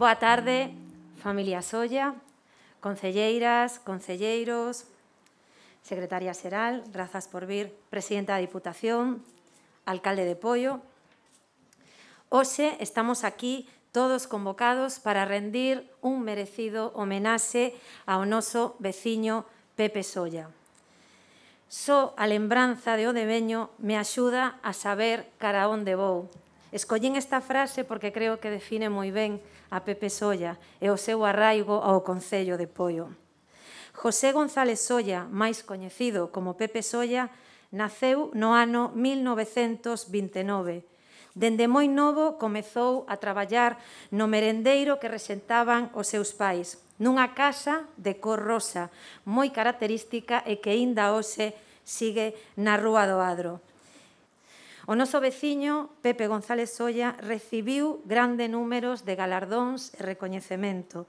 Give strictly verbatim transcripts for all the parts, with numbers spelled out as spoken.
Boa tarde, familia Solla, concelleiras, concelleiros, secretaria xeral, grazas por vir, presidenta da Diputación, alcalde de Poio. Hoxe estamos aquí todos convocados para rendir un merecido homenaxe ao noso veciño Pepe Solla. Só a lembranza de o deveño me axuda a saber cara onde vou. Escollín esta frase porque creo que define moi ben a Pepe Solla e o seu arraigo ao Concello de Poio. José González Solla, máis coñecido como Pepe Solla, naceu no ano mil novecentos vinte e nove. Dende moi novo comezou a traballar no merendeiro que rexentaban os seus pais, nunha casa de cor rosa, moi característica e que aínda hoxe sigue na Rúa do Adro. O noso veciño, Pepe González Solla, recibiu grande números de galardóns e recoñecemento.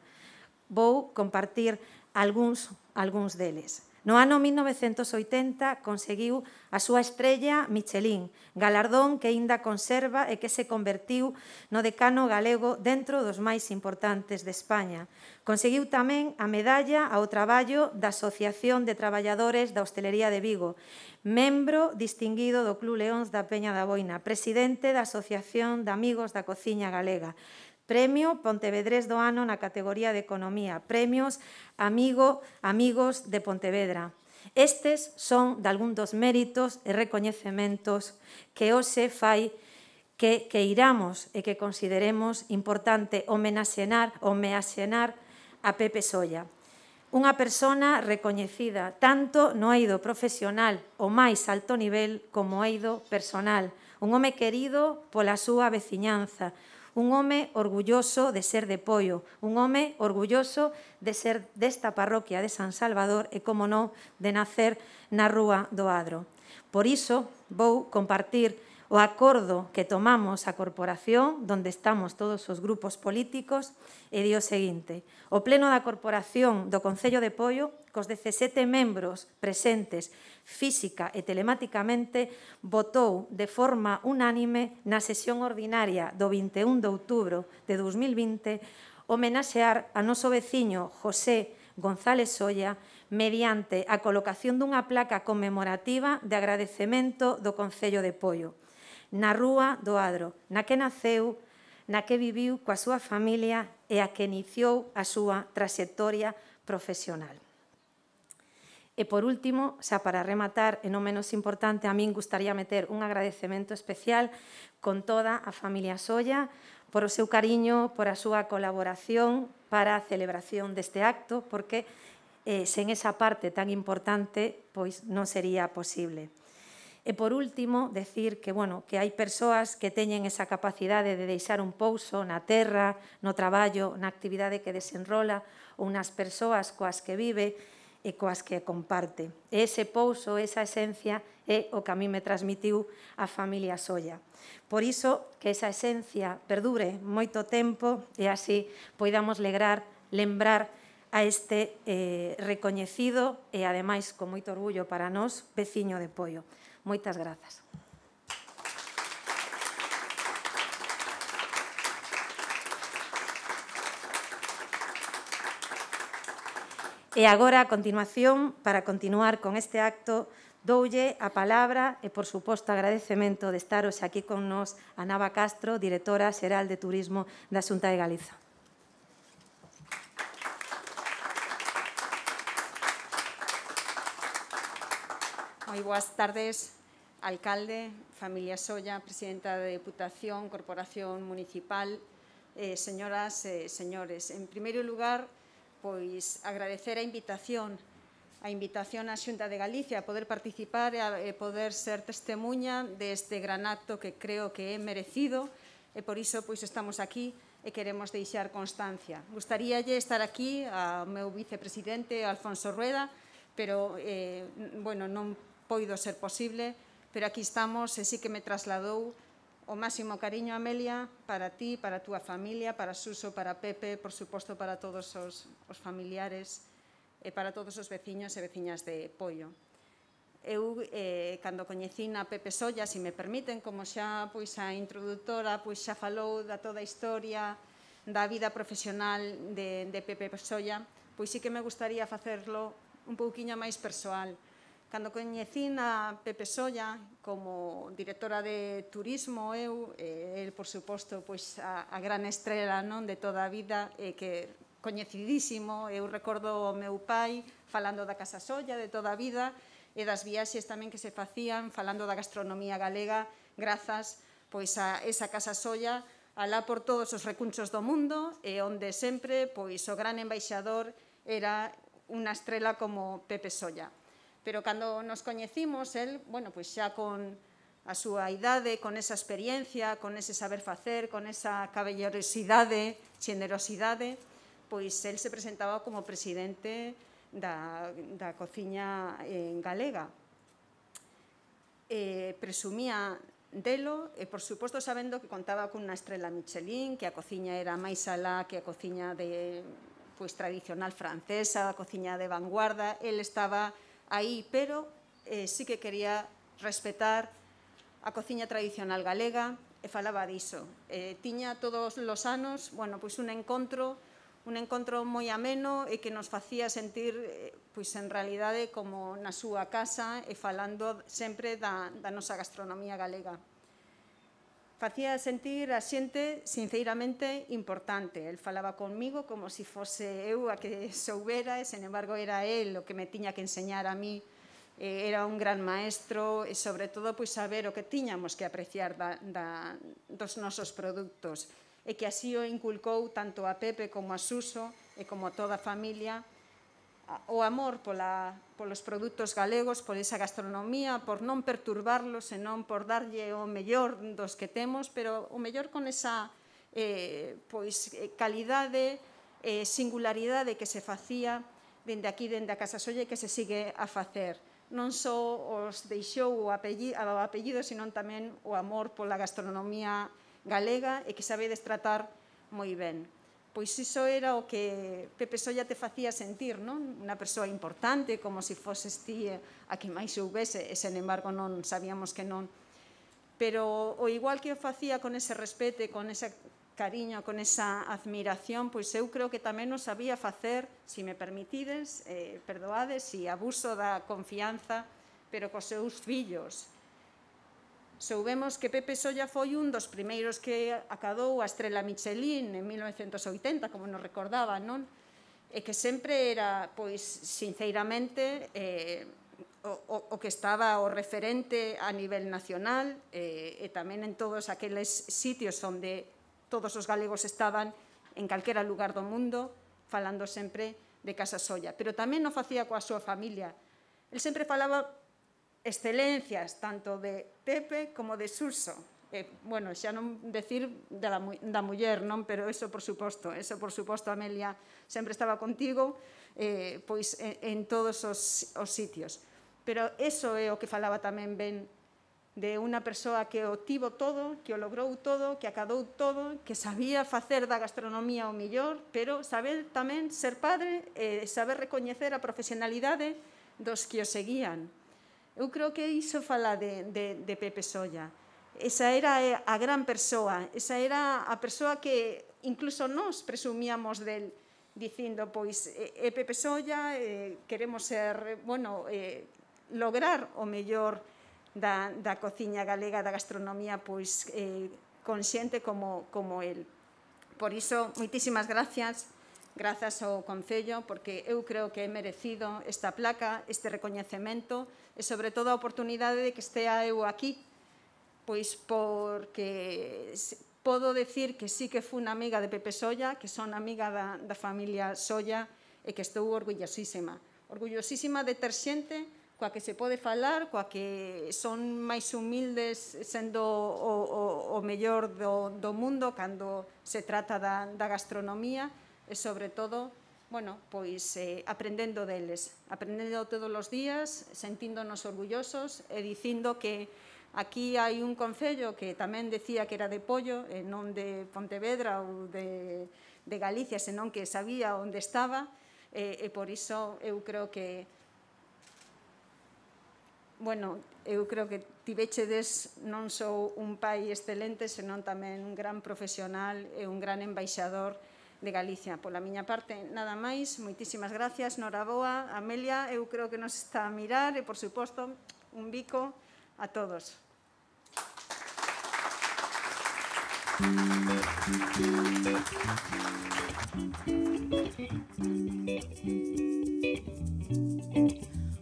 Vou compartir algúns, algúns deles. No ano mil novecentos oitenta conseguiu a súa estrella Michelin, galardón que aínda conserva e que se convertiu no decano galego dentro dos máis importantes de España. Conseguiu tamén a medalla ao traballo da Asociación de Traballadores da Hostelería de Vigo, membro distinguido do Club Leóns da Peña da Boina, presidente da Asociación de Amigos da Cociña Galega, Premio Pontevedrés do Ano na categoría de Economía, Premios Amigo, Amigos de Pontevedra. Estes son de algún dos méritos e recoñecementos que hoxe fai que, que iramos e que consideremos importante homenaxear, homenaxear a Pepe Solla. Unha persona recoñecida tanto no eido profesional o máis alto nivel como o eido personal. Un home querido pola súa veciñanza, un home orgulloso de ser de Poio, un home orgulloso de ser desta parroquia de San Salvador e, como non, de nacer na Rúa do Adro. Por iso, vou compartir o acordo que tomamos a corporación, onde estamos todos os grupos políticos, e di o seguinte: o pleno da corporación do Concello de Poio, cos dezasete membros presentes física e telematicamente, votou de forma unánime na sesión ordinaria do vinte e un de outubro de dous mil vinte homenaxear a noso veciño José González Solla mediante a colocación dunha placa conmemorativa de agradecemento do Concello de Poio na Rúa do Adro, na que naceu, na que viviu coa súa familia e a que iniciou a súa traxectoria profesional. E, por último, xa para rematar, e non menos importante, a min gustaría meter un agradecemento especial con toda a familia Solla por o seu cariño, por a súa colaboración para a celebración deste acto, porque eh, sen esa parte tan importante, pois non sería posible. E, por último, decir que, bueno, que hai persoas que teñen esa capacidade de deixar un pouso na terra, no traballo, na actividade que desenrola, ou nas persoas coas que vive e coas que comparte. E ese pouso, esa esencia, é o que a mí me transmitiu a familia Solla. Por iso, que esa esencia perdure moito tempo e así poidamos legrar, lembrar a este eh, recoñecido e, ademais, con moito orgullo para nós, veciño de Poio. Moitas grazas. E agora, a continuación, para continuar con este acto, doulle a palabra e, por suposto, agradecemento de estar hoxe aquí con nós a Nava Castro, directora xeral de Turismo da Xunta de Galiza. Moi boas tardes, alcalde, familia Solla, presidenta da Deputación, Corporación Municipal, eh, señoras e señores. En primeiro lugar, pois agradecer a invitación, a invitación á Xunta de Galicia a poder participar e a poder ser testemunha deste gran acto que creo que é merecido e por iso pois estamos aquí e queremos deixar constancia. Gustaríalle estar aquí ao meu vicepresidente Alfonso Rueda, pero, eh, bueno, non poido ser posible, pero aquí estamos e sí que me trasladou o máximo cariño, Amelia, para ti, para a túa familia, para Suso, para Pepe, por suposto para todos os, os familiares e para todos os veciños e veciñas de Poio. Eu, eh, cando coñecín a Pepe Solla, se me permiten, como xa pois, a introductora pois, xa falou da toda a historia da vida profesional de, de Pepe Solla, pois sí que me gustaría facerlo un pouquiño máis persoal. Cando coñecín a Pepe Solla como directora de turismo, eu, eh, el, por suposto, pois, a, a gran estrela, non, de toda a vida, eh, que coñecidísimo. Eu recordo o meu pai falando da Casa Solla de toda a vida e das viaxes tamén que se facían falando da gastronomía galega grazas pois, a esa Casa Solla alá por todos os recunchos do mundo e onde sempre pois, o gran embaixador era unha estrela como Pepe Solla. Pero cando nos coñecimos, el, bueno, pois xa con a súa idade, con esa experiencia, con ese saber facer, con esa caballerosidade, xenerosidade, pois el se presentaba como presidente da, da cociña en galega. Eh, presumía delo, e, por suposto, sabendo que contaba cunha estrela Michelin, que a cociña era máis alá que a cociña de, pois, tradicional francesa, a cociña de vanguarda. El estaba aí, pero eh, sí que quería respetar a cociña tradicional galega e falaba diso. Eh, tiña todos os anos, bueno, pois un encontro, un encontro moi ameno e que nos facía sentir, eh, pois en realidade, como na súa casa e falando sempre da, da nosa gastronomía galega. Facía sentir a xente sinceramente importante. El falaba conmigo como se fose eu a que soubera e, sen embargo, era el o que me tiña que enseñar a mí. Eh, era un gran maestro e, sobre todo, pois, saber o que tiñamos que apreciar da, da, dos nosos produtos e que así o inculcou tanto a Pepe como a Suso e como a toda a familia o amor pola, polos produtos galegos, por esa gastronomía, por non perturbarlos, senón por darlle o mellor dos que temos, pero o mellor con esa eh, pois, calidade, eh, singularidade que se facía dende aquí, dende a Casa Solla, e que se sigue a facer. Non só os deixou o apellido, o apellido, senón tamén o amor pola gastronomía galega e que sabedes tratar moi ben. Pois iso era o que Pepe Solla te facía sentir, non? Unha persoa importante, como se foses ti a que máis soubese, e, sen embargo, non sabíamos que non. Pero o igual que o facía con ese respeto, con ese cariño, con esa admiración, pois eu creo que tamén o sabía facer, se me permitides, eh, perdoades, si abuso da confianza, pero cos seus fillos. Soubemos que Pepe Solla foi un dos primeiros que acadou a estrela Michelin en mil novecentos oitenta, como nos recordaba, non? E que sempre era, pois, sinceramente, eh, o, o que estaba o referente a nivel nacional eh, e tamén en todos aqueles sitios onde todos os galegos estaban en calquera lugar do mundo, falando sempre de Casa Solla. Pero tamén o facía coa súa familia. El sempre falaba excelencias, tanto de Pepe como de Suso. Eh, bueno, xa non decir da, da muller, non? Pero eso, por suposto, eso, por suposto, Amelia, sempre estaba contigo, eh, pois, en, en todos os, os sitios. Pero eso é o que falaba tamén ben de unha persoa que o tivo todo, que o logrou todo, que acadou todo, que sabía facer da gastronomía o millor, pero saber tamén ser padre e saber recoñecer a profesionalidade dos que o seguían. Eu creo que iso fala de, de, de Pepe Solla. Esa era a gran persoa, esa era a persoa que incluso nós presumíamos del, dicindo, pois, é Pepe Solla, eh, queremos ser, bueno, eh, lograr o mellor da, da cociña galega, da gastronomía, pois, eh, con xente como, como el. Por iso, moitísimas gracias, grazas ao Concello, porque eu creo que é merecido esta placa, este recoñecemento, e, sobre todo, a oportunidade de que estea eu aquí, pois porque podo decir que sí que fui unha amiga de Pepe Solla, que son amiga da, da familia Solla, e que estou orgullosísima. Orgullosísima de ter xente coa que se pode falar, coa que son máis humildes, sendo o, o, o mellor do, do mundo cando se trata da, da gastronomía, e, sobre todo, bueno, pois eh, aprendendo deles, aprendendo todos os días, sentíndonos orgullosos e dicindo que aquí hai un concello que tamén decía que era de Pollo, e non de Pontevedra ou de, de Galicia, senón que sabía onde estaba, e, e por iso eu creo que, bueno, eu creo que tivechedes non só un pai excelente, senón tamén un gran profesional e un gran embaixador de Galicia. Pola miña parte, nada máis. Moitísimas gracias. Noraboa, Amelia, eu creo que nos está a mirar e, por suposto, un bico a todos.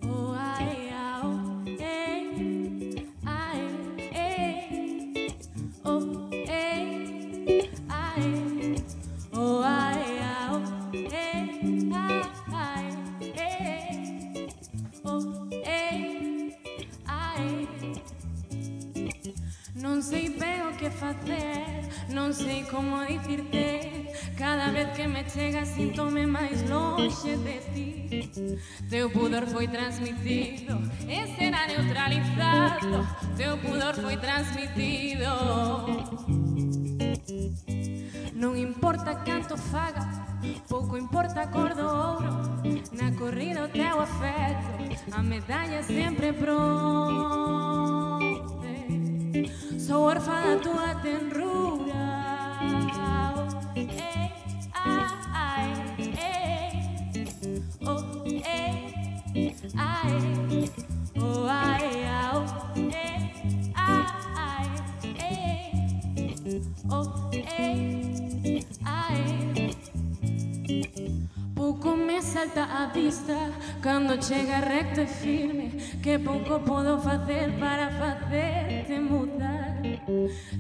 Oh, ai, au, ei, ai, ei, oh, ei, ai, oh, ai, au, ei, ai, ei, oh, ei, ai. Non sei ben o que facer, non sei como dicirte. Cada vez que me chegas síntome máis lonxe de ti. Teu pudor foi transmitido e será neutralizado. Teu pudor foi transmitido. Non importa canto faga, pouco importa a cor do ouro. Na corrida o teu afecto, a medalla sempre pronta. Sou orfa da tua tenrura. Ei, ai, ei, oh, ei, ai, oh, ai, au, ei, ai, ei, oh, ei, ai. Pouco me salta a vista cando chega recto e firme, que pouco podo facer para facerte mudar.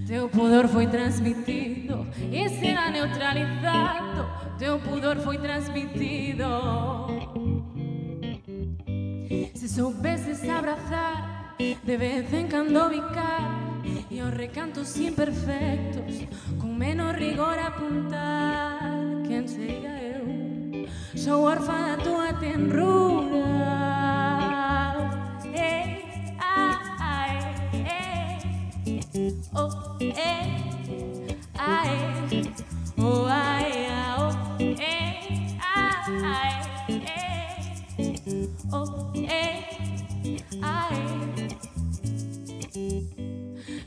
Teu pudor foi transmitido e será neutralizado. Teu pudor foi transmitido. Se soubeses abrazar, de vez en cando bicar, e os recantos imperfectos, con menos rigor apuntar. Quen sería eu? Sou orfa da tua tenrura. Ei, ai, ei, oh, ei, ai, oh, ai, au, ei, ai, ei, oh, ei, ai.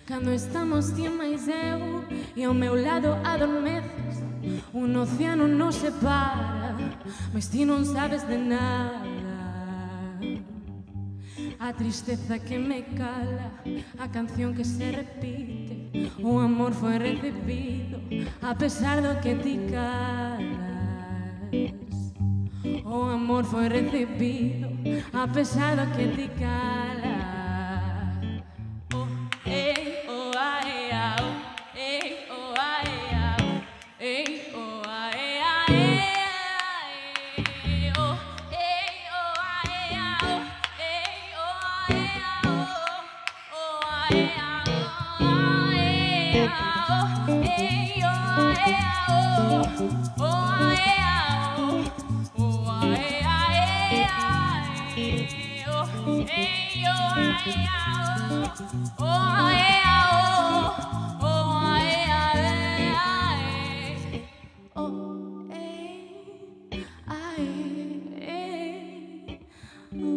Cando estamos ti máis eu e ao meu lado adormeces, un océano nos separa, mas ti non sabes de nada. A tristeza que me cala, a canción que se repite, o amor foi recibido a pesar do que ti calas. O amor foi recibido a pesar do que ti calas. Oh, ei, oh, ai, au, ei, oh, ai, au, ei, oh, ai, ai, ai, oh, ei, oh, ai, au, ei, oh, ai, au, oh, ai, au, ai, au, ei, oh, ai, au, oh, ai, au, oh, ai, ai, ai, oh, ei, oh, ai, au, oh, ai, au, oh, ai, ai, oh, ei, ai, ei, oh,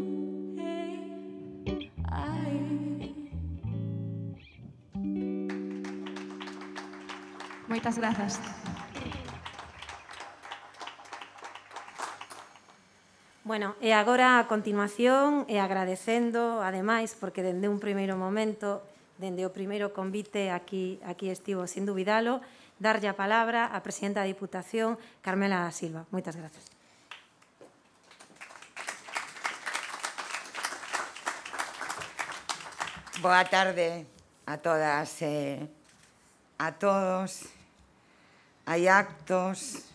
ei, ai. Moitas grazas. Bueno, e agora, a continuación, e agradecendo, ademais, porque dende un primeiro momento, dende o primeiro convite, aquí, aquí estivo, sin dubidalo, darlle a palabra á presidenta da Diputación, Carmela Silva. Moitas grazas. Boa tarde a todas e a todos. Hai actos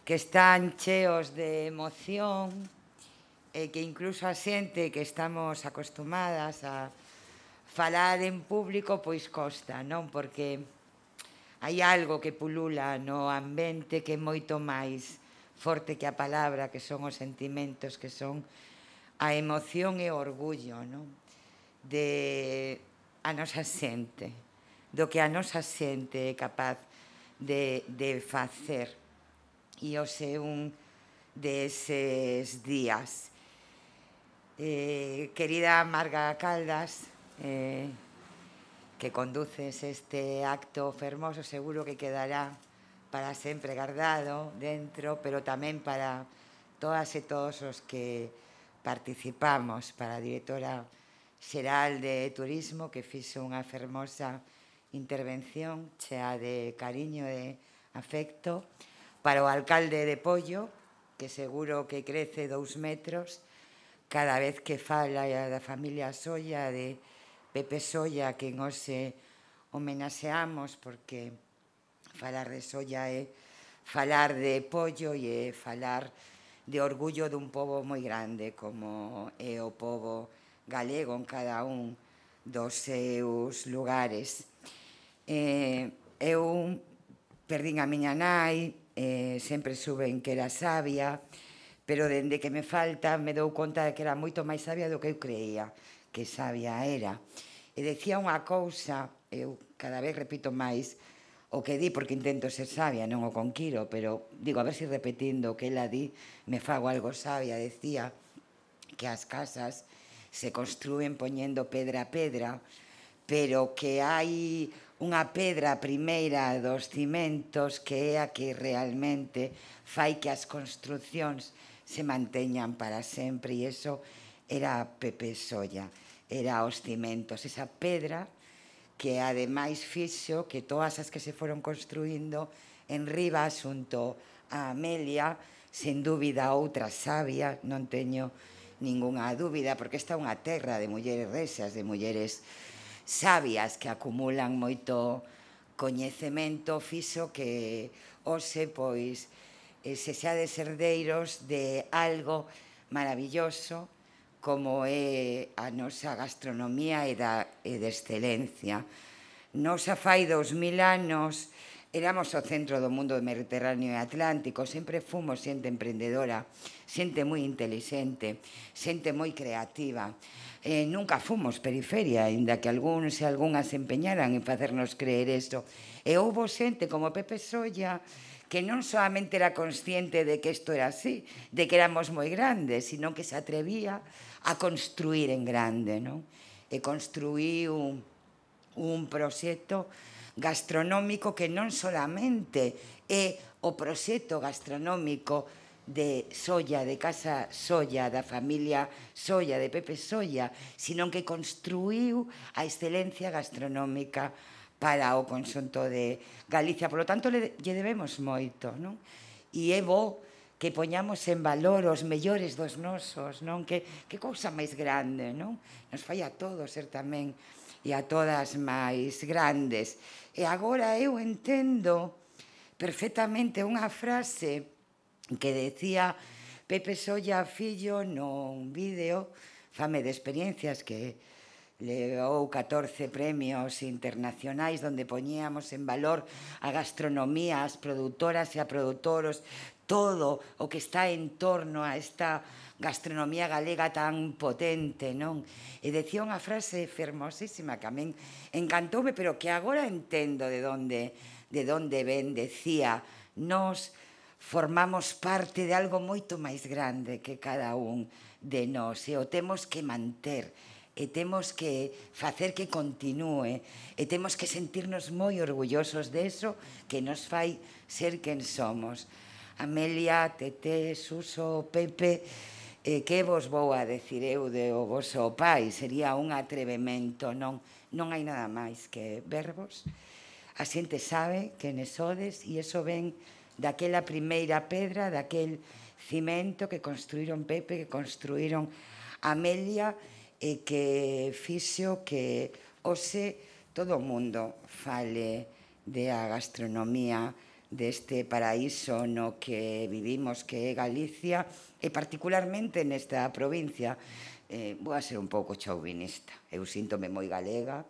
que están cheos de emoción e que incluso a xente que estamos acostumadas a falar en público pois costa, non? Porque hai algo que pulula no ambiente que é moito máis forte que a palabra, que son os sentimentos, que son a emoción e o orgullo, non? De a nosa xente, do que a nosa xente é capaz de, de facer. E hoxe un deses días. Eh, querida Marga Caldas, eh, que conduces este acto fermoso, seguro que quedará para sempre guardado dentro, pero tamén para todas e todos os que participamos, para a directora xeral de Turismo, que fixo unha fermosa intervención chea de cariño e afecto, para o alcalde de Poio, que seguro que crece dous metros cada vez que fala da familia Solla, de Pepe Solla, que nos homenaxeamos, porque falar de Solla é falar de Pollo e é falar de orgullo dun pobo moi grande como é o pobo galego en cada un dos seus lugares. Eu perdín a miña nai, sempre suben que era sabia, pero dende que me falta me dou conta de que era moito máis sabia do que eu creía que sabia era. E decía unha cousa, eu cada vez repito máis o que di, porque intento ser sabia, non o conquiro, pero digo, a ver se repetindo o que ela di, me fago algo sabia. Decía que as casas se construen poñendo pedra a pedra, pero que hai unha pedra primeira dos cimentos que é a que realmente fai que as construcións se manteñan para sempre, e iso era Pepe Solla, era os cimentos, esa pedra que ademais fixo que todas as que se foron construindo en riba xunto a Amelia, sen dúbida outra sabia, non teño ningunha dúbida, porque esta é unha terra de mulleres rexas, de mulleres sabias que acumulan moito coñecemento, fixo que hoxe, pois, se xades herdeiros de algo maravilloso como é a nosa gastronomía e de excelencia. Nos a fai dous mil anos éramos o centro do mundo mediterráneo e atlántico, sempre fomos xente emprendedora, xente moi intelixente, xente moi creativa. Nunca fomos periferia, ainda que algúns e algunhas se empeñaran en facernos creer isto. E houbo xente como Pepe Solla que non solamente era consciente de que isto era así, de que éramos moi grandes, sino que se atrevía a construir en grande, non? E construíu un proxecto gastronómico que non solamente é o proxecto gastronómico de Solla, de Casa Solla, da familia Solla, de Pepe Solla, sino que construíu a excelencia gastronómica para o conxunto de Galicia. Por lo tanto, lle debemos moito, non? E é bo que poñamos en valor os mellores dos nosos, non? Que cousa máis grande, non? Nos fai a todos ser tamén e a todas máis grandes. E agora eu entendo perfectamente unha frase que decía Pepe Solla fillo nun vídeo, Fame de experiencias, que levou catorce premios internacionais onde poñíamos en valor a gastronomía, as produtoras e a produtoros, todo o que está en torno a esta gastronomía galega tan potente, non? E decía unha frase fermosísima que a min encantoume, pero que agora entendo de onde de onde ven. Decía, nos formamos parte de algo moito máis grande que cada un de nós, e o temos que manter, e temos que facer que continúe, e temos que sentirnos moi orgullosos de eso que nos fai ser quen somos. Amelia, Tete, Suso, Pepe, que vos vou a decir eu do voso pai? Sería un atrevemento, non? Non hai nada máis que verbos. A xente sabe que ne sodes, e iso ven daquela primeira pedra, daquel cimento que construíron Pepe, que construíron Amelia, e que fixo que hoxe todo o mundo fale de a gastronomía deste paraíso no que vivimos, que é Galicia, e particularmente nesta provincia. Vou a ser un pouco chauvinista. Eu síntome moi galega,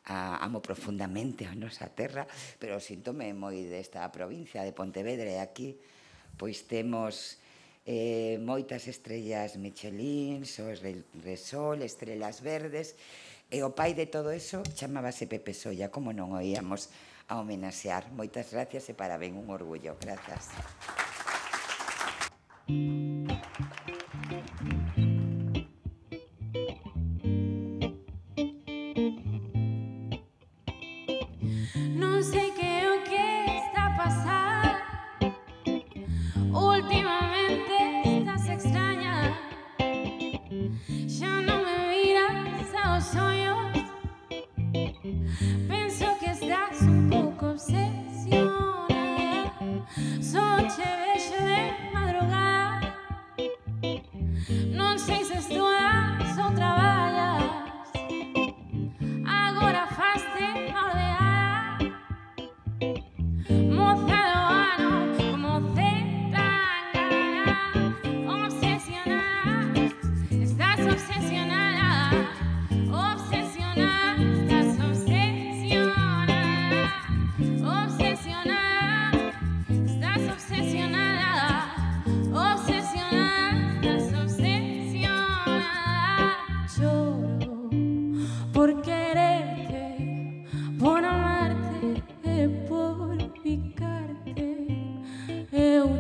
amo profundamente a nosa terra, pero síntome moi desta provincia de Pontevedra, e aquí pois temos moitas estrellas Michelin, Sos Resol, Estrelas Verdes, e o pai de todo eso chamábase Pepe Solla, como non o íamos a homenaxear. Moitas gracias e parabén, un orgullo. Grazas.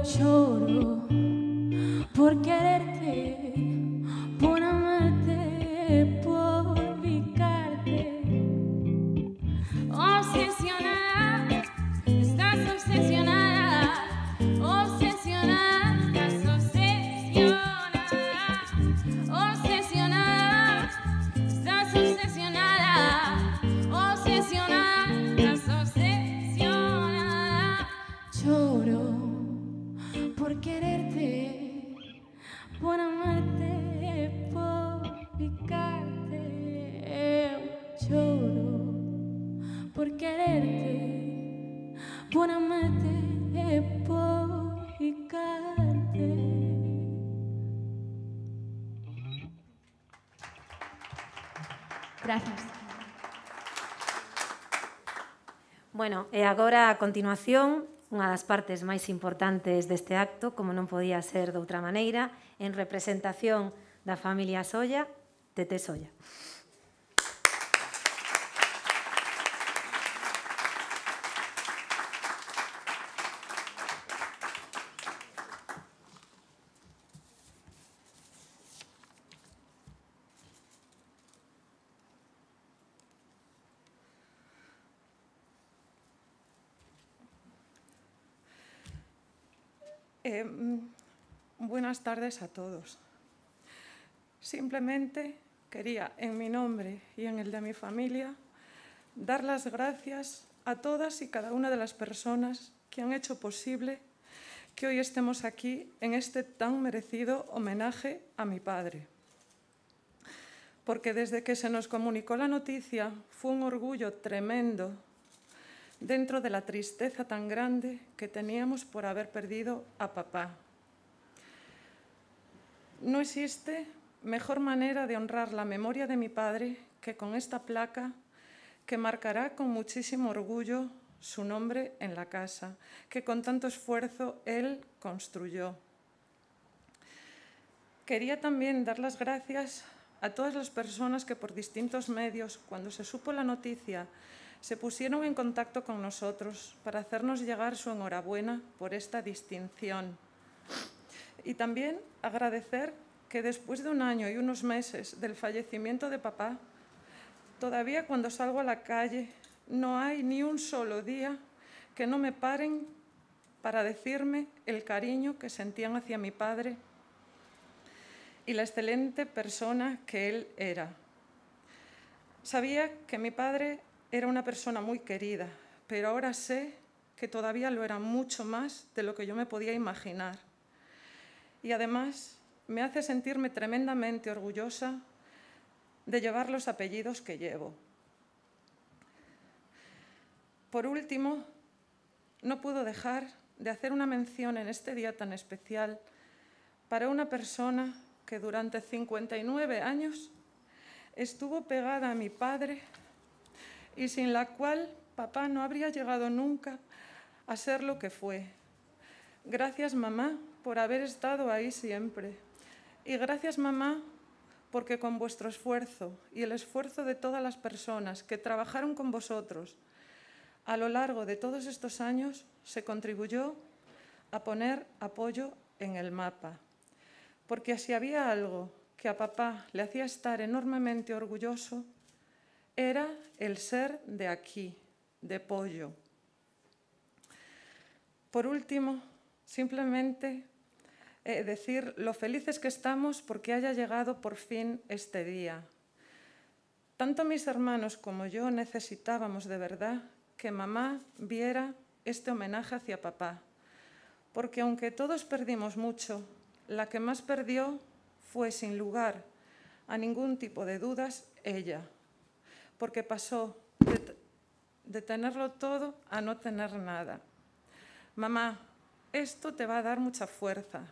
lloro por quererte, por amarte, por ubicarte. Obsesionada, estás obsesionada, obsesionada, estás obsesionada, obsesionada, estás obsesionada, obsesionada, estás obsesionada. Lloro por quererte, por amarte, por ubicarte. Lloro por quererte, por amarte, por ubicarte. Gracias. Bueno, e agora, a continuación, unha das partes máis importantes deste acto, como non podía ser de outra maneira, en representación da familia Solla, Tete Solla. Eh, buenas tardes a todos. Simplemente quería, en mi nombre y en el de mi familia, dar las gracias a todas y cada una de las personas que han hecho posible que hoy estemos aquí en este tan merecido homenaje a mi padre. Porque desde que se nos comunicó la noticia fue un orgullo tremendo dentro de la tristeza tan grande que teníamos por haber perdido a papá. No existe mejor manera de honrar la memoria de mi padre que con esta placa que marcará con muchísimo orgullo su nombre en la casa, que con tanto esfuerzo él construyó. Quería también dar las gracias a todas las personas que por distintos medios, cuando se supo la noticia, se pusieron en contacto con nosotros para hacernos llegar su enhorabuena por esta distinción. Y también agradecer que después de un año y unos meses del fallecimiento de papá, todavía cuando salgo a la calle no hay ni un solo día que no me paren para decirme el cariño que sentían hacia mi padre y la excelente persona que él era. Sabía que mi padre era una persona muy querida, pero ahora sé que todavía lo era mucho más de lo que yo me podía imaginar. Y además me hace sentirme tremendamente orgullosa de llevar los apellidos que llevo. Por último, no puedo dejar de hacer una mención en este día tan especial para una persona que durante cincuenta y nueve años estuvo pegada a mi padre y sin la cual papá no habría llegado nunca a ser lo que fue. Gracias, mamá, por haber estado ahí siempre. Y gracias, mamá, porque con vuestro esfuerzo y el esfuerzo de todas las personas que trabajaron con vosotros a lo largo de todos estos años se contribuyó a poner apoyo en el mapa. Porque si había algo que a papá le hacía estar enormemente orgulloso, era el ser de aquí, de Poio. Por último, simplemente eh, decir lo felices que estamos porque haya llegado por fin este día. Tanto mis hermanos como yo necesitábamos de verdad que mamá viera este homenaje hacia papá, porque aunque todos perdimos mucho, la que más perdió fue, sin lugar a ningún tipo de dudas, ella, porque pasó de, de tenerlo todo a no tener nada. Mamá, esto te va a dar mucha fuerza,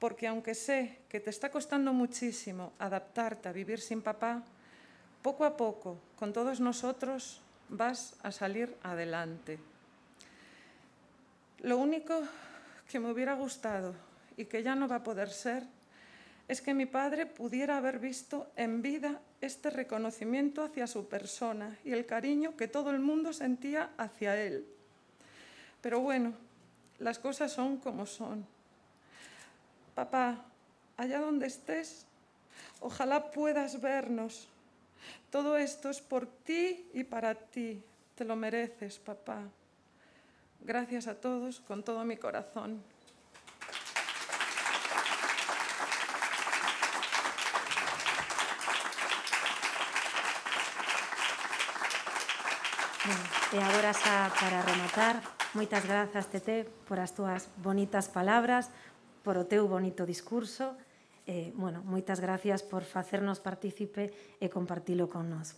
porque aunque sé que te está costando muchísimo adaptarte a vivir sin papá, poco a poco, con todos nosotros, vas a salir adelante. Lo único que me hubiera gustado y que ya no va a poder ser es que mi padre pudiera haber visto en vida este reconocimiento hacia su persona y el cariño que todo el mundo sentía hacia él. Pero bueno, las cosas son como son. Papá, allá donde estés, ojalá puedas vernos. Todo esto es por ti y para ti. Te lo mereces, papá. Gracias a todos con todo mi corazón. Bueno, e agora xa para rematar, moitas grazas, Tete, por as túas bonitas palabras, por o teu bonito discurso. Eh, bueno, moitas gracias por facernos partícipe e compartilo con nós.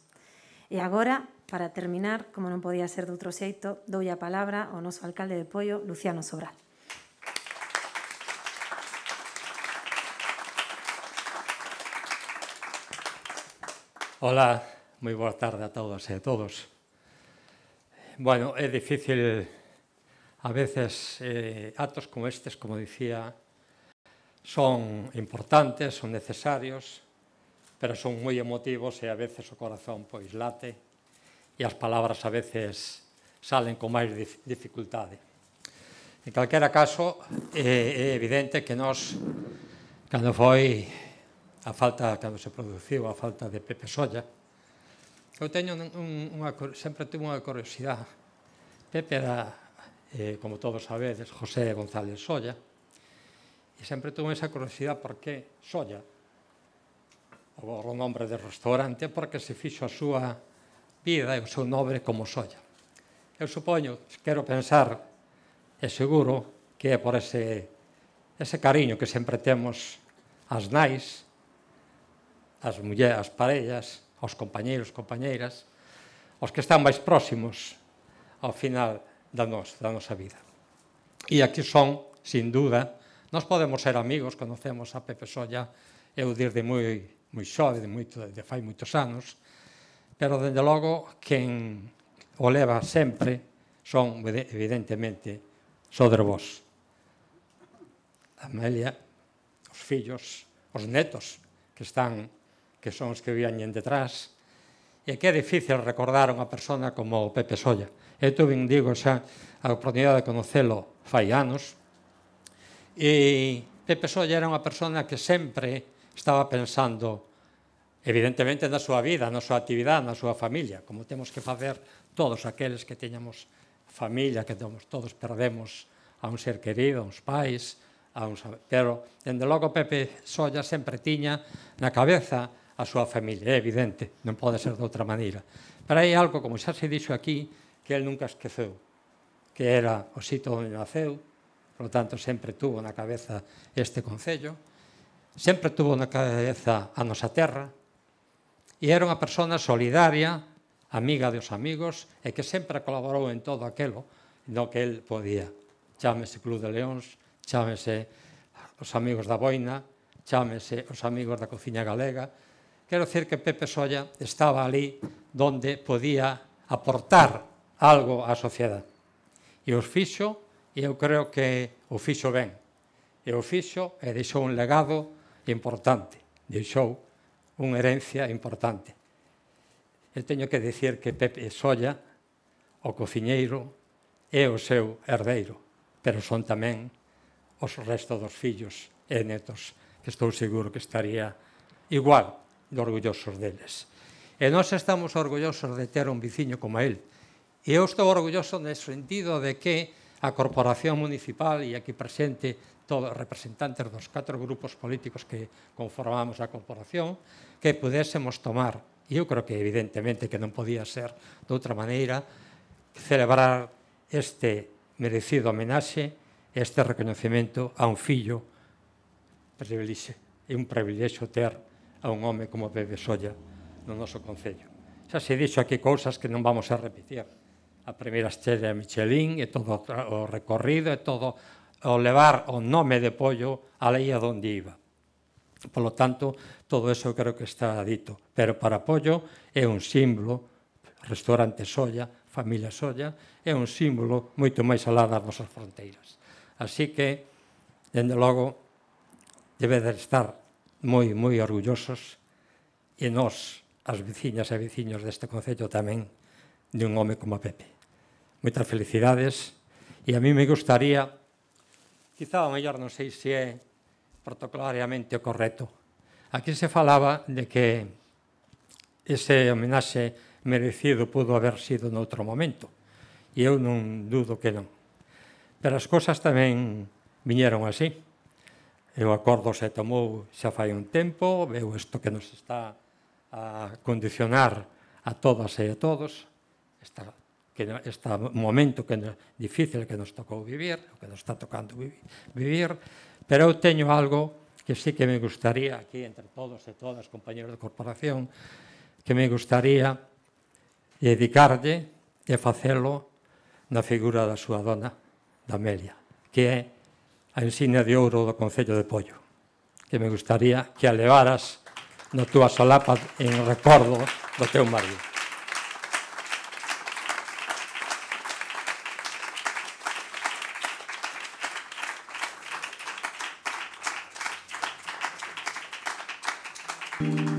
E agora, para terminar, como non podía ser de outro xeito, doulle a palabra ao noso alcalde de Poio, Luciano Sobral. Hola, moi boa tarde a todas e a todos. Bueno, é difícil a veces eh, actos como estes, como dicía, son importantes, son necesarios, pero son moi emotivos e a veces o corazón pois late e as palabras a veces salen con máis dificultade. En calquera caso, é, é evidente que nós, cando foi a falta, cando se produciu a falta de Pepe Solla, eu teño un, unha, sempre tuve unha curiosidade. Pepe era, eh, como todos sabedes, José González Solla, e sempre tuve esa curiosidade por que Solla, o nombre de restaurante, porque se fixo a súa vida e o seu nome como Solla. Eu supoño, quero pensar, e seguro, que é por ese, ese cariño que sempre temos ás nais, ás mulleres, ás parellas, aos compañeiros, compañeiras, aos que están máis próximos ao final da, nos, da nosa vida. E aquí son, sin duda, nós podemos ser amigos, conocemos a Pepe Solla, eu desde moi, moi xove, de, moito, de fai moitos anos, pero, dende logo, quen o leva sempre son, evidentemente, soder vos. A Amelia, os fillos, os netos, que están, que son os que viñen detrás, e que é difícil recordar unha persona como Pepe Solla. Eu tuve, digo, xa a oportunidade de conocelo fai anos, e Pepe Solla era unha persona que sempre estaba pensando, evidentemente, na súa vida, na súa actividade, na súa familia, como temos que facer todos aqueles que teñamos familia, que todos perdemos a un ser querido, a uns pais, a uns... pero, dende logo, Pepe Solla sempre tiña na cabeza a súa familia, é evidente, non pode ser de outra maneira. Pero hai algo, como xa se dixo aquí, que el nunca esqueceu, que era o sitio onde naceu, por lo tanto, sempre tuvo na cabeza este concello, sempre tuvo na cabeza a nosa terra, e era unha persona solidaria, amiga dos amigos, e que sempre colaborou en todo aquilo no que el podía. Chámese Club de Leóns, chámese os amigos da Boina, chámese os amigos da Cociña Galega. Quero dicir que Pepe Solla estaba ali donde podía aportar algo á sociedade. E os fixo, e eu creo que o fixo ben. E o fixo e deixou un legado importante, deixou unha herencia importante. Eu teño que dicir que Pepe Solla, o cociñeiro, é o seu herdeiro, pero son tamén os restos dos fillos e netos, que estou seguro que estaría igual de orgullosos deles. E nós estamos orgullosos de ter un veciño como el. E eu estou orgulloso no sentido de que a Corporación Municipal, e aquí presente todos os representantes dos catro grupos políticos que conformamos a Corporación, que pudésemos tomar, e eu creo que evidentemente que non podía ser de outra maneira, celebrar este merecido homenaxe, este reconocimento a un fillo privilexio. É un privilexio ter a un home como Pepe Solla no noso concello. Xa se dixo aquí cousas que non vamos a repetir. A primeira estrela Michelin e todo o recorrido e todo o levar o nome de Pollo a lei a donde iba. Por lo tanto, todo eso creo que está dito. Pero para Pollo é un símbolo, restaurante Solla, familia Solla, é un símbolo moito máis alá das nosas fronteiras. Así que, dende logo, debe de estar moi, moi orgullosos e nós, as veciñas e veciños deste concello tamén, de un home como Pepe. Moitas felicidades e a mí me gustaría quizá o mellor non sei se é protocolariamente o correcto. Aquí se falaba de que ese homenaxe merecido pudo haber sido noutro momento, e eu non dudo que non. Pero as cousas tamén viñeron así. E o acordo se tomou xa fai un tempo, veu isto que nos está a condicionar a todas e a todos, esta, que, este momento que nos, difícil que nos tocou vivir, o que nos está tocando vivir, pero eu teño algo que sí que me gustaría, aquí entre todos e todas, compañeros de corporación, que me gustaría dedicarlle e facelo na figura da súa dona, da Amelia, que é a insignia de ouro do Concello de Poio, que me gustaría que a levaras na túa solapa en recordo do teu marido. Thank you.